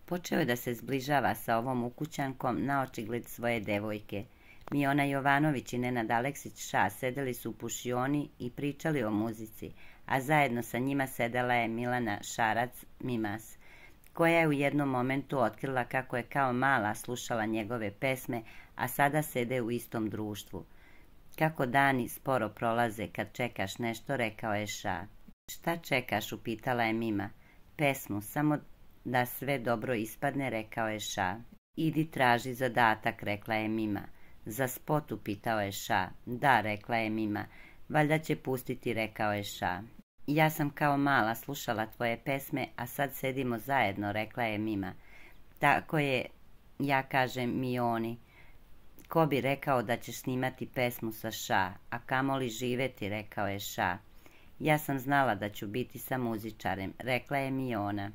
Počeo je da se zbližava sa ovom ukućankom na očigled svoje devojke. Miona Jovanović i Nenad Aleksić Ša sedeli su u pušioni i pričali o muzici, a zajedno sa njima sedela je Milana Šarac Mimas, koja je u jednom momentu otkrila kako je kao mala slušala njegove pesme, a sada sede u istom društvu. Kako dani sporo prolaze kad čekaš nešto, rekao je Ša. Šta čekaš, upitala je Mima. Pesmu, samo da sve dobro ispadne, rekao je Ša. Idi traži zadatak, rekla je Mima. Za spot, upitao je Ša. Da, rekla je Mima. Valjda će pustiti, rekao je Ša. Ja sam kao mala slušala tvoje pesme, a sad sedimo zajedno, rekla je Mima. Tako je, ja kažem Mioni. Ko bi rekao da ćeš snimati pesmu sa Ša, a kamoli živeti, rekao je Ša. Ja sam znala da ću biti sa muzičarem, rekla je Miona.